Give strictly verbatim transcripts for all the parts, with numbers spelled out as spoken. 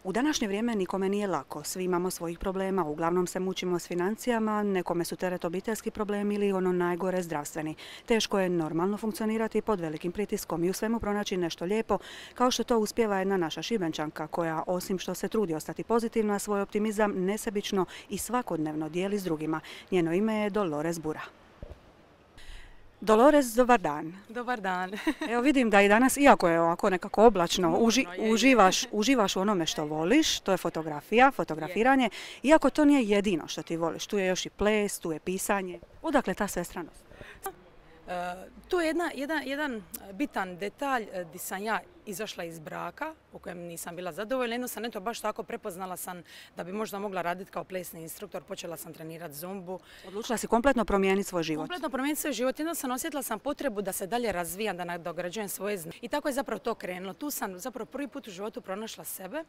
U današnje vrijeme nikome nije lako, svi imamo svojih problema, uglavnom se mučimo s financijama, nekome su teret obiteljski problemi ili ono najgore zdravstveni. Teško je normalno funkcionirati pod velikim pritiskom i u svemu pronaći nešto lijepo, kao što to uspijeva jedna naša Šibenčanka koja osim što se trudi ostati pozitivna, svoj optimizam nesebično i svakodnevno dijeli s drugima. Njeno ime je Dolores Bura. Dolores, dobar dan. Dobar dan. Evo vidim da i danas, iako je ovako nekako oblačno, uži, uživaš, uživaš u onome što voliš, to je fotografija, fotografiranje, iako to nije jedino što ti voliš. Tu je još i ples, tu je pisanje. Odakle ta svestranost? Uh, tu je jedna, jedan, jedan bitan detalj uh, gdje sam ja izašla iz braka u kojem nisam bila zadovoljna. Jedno sam eto baš tako prepoznala sam da bi možda mogla raditi kao plesni instruktor. Počela sam trenirati zumbu. Odlučila si kompletno promijeniti svoj život? Kompletno promijeniti svoj život. Jedno sam osjetila sam potrebu da se dalje razvijam, da nadograđujem svoje znanje. I tako je zapravo to krenulo. Tu sam zapravo prvi put u životu pronašla sebe.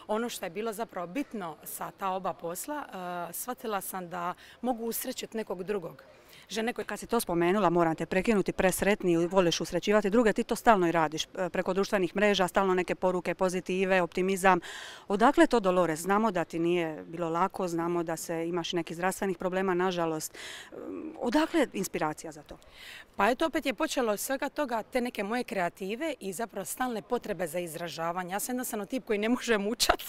Ono što je bilo zapravo bitno sa ta oba posla, uh, shvatila sam da mogu usrećiti nekog drugog. Žene koje, kad si to spomenula, moram te prekinuti, presretni i voliš usrećivati druge, ti to stalno i radiš preko društvenih mreža, stalno neke poruke, pozitive, optimizam. Odakle to, Dolores? Znamo da ti nije bilo lako, znamo da se imaš nekih zdravstvenih problema, nažalost. Odakle inspiracija za to? Pa eto, opet je počelo od svega toga te neke moje kreative i zapravo stalne potrebe za izražavanje. Ja sam jednostavno tip koji ne može mučati.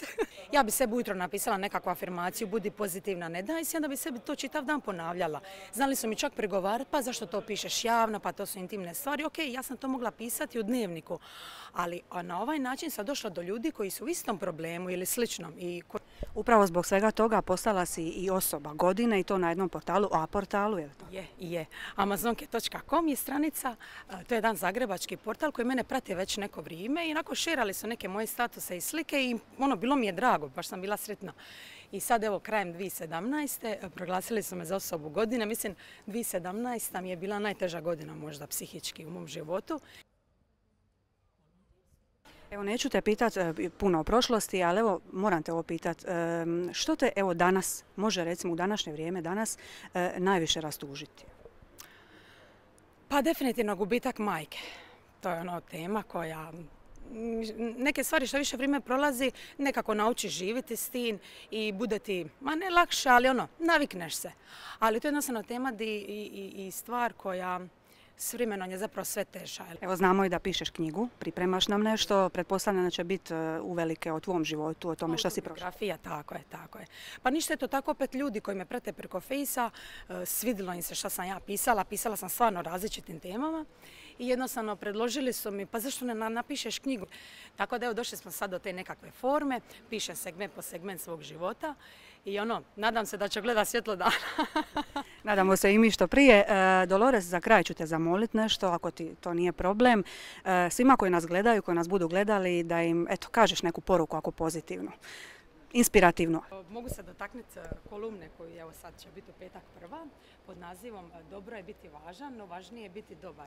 Ja bi sebi ujutro napisala nekakvu afirmaciju, budi pozitivna, ne daj se, onda bi sebi to čitav dan ponavljala. Znali su mi čak pregovarati, pa zašto to pišeš javno, pa to su intimne stvari. Ok, ja sam to mogla pisati u dnevniku, ali na ovaj način sam došla do ljudi koji su u istom problemu ili sličnom. I ko... Upravo zbog svega toga postala si i osoba godine i to na jednom portalu, A portalu, je li to? Je, je. amazonke točka com je stranica, to je jedan zagrebački portal koji mene prati već neko vrijeme i onako šerali su neke moje statuse i slike i ono, bilo mi je drago, baš sam bila sretna. I sad evo krajem dvije tisuće sedamnaeste. proglasili su me za osobu godine. Mislim, dvije tisuće sedamnaesta mi je bila najteža godina možda psihički u mom životu. Evo, neću te pitati puno o prošlosti, ali evo, moram te ovo pitati. Što te evo danas, može recimo u današnje vrijeme danas, najviše rastužiti? Pa definitivno gubitak majke. To je ono tema koja... Neke stvari što više vrijeme prolazi, nekako naučiš živjeti s tim i bude ti, ma ne lakše, ali ono, navikneš se. Ali to je jednostavno tema i, i, i stvar koja s vremenom je zapravo sve teža. Evo, znamo i da pišeš knjigu, pripremaš nam nešto, pretpostavljam da će biti uvelike o tvom životu, o tome što si prošla. Fotografija, tako je, tako je. Pa ništa je to tako, opet ljudi koji me prate preko Fejsa, svidilo im se što sam ja pisala, pisala sam stvarno o različitim temama i jednostavno predložili su mi, pa zašto ne napišeš knjigu? Tako da evo, došli smo sad do te nekakve forme, pišem segment po segment svog života i ono, nadam se da će gleda svjetlo dana. Nadamo se i mi što prije. Dolores, za kraj ću te zamoliti nešto, ako ti to nije problem. Svima koji nas gledaju, koji nas budu gledali, da im, eto, kažeš neku poruku ako pozitivnu, inspirativnu. Mogu se dotaknuti kolumne koju evo sad će biti u petak prva pod nazivom Dobro je biti važan, no važnije je biti dobar.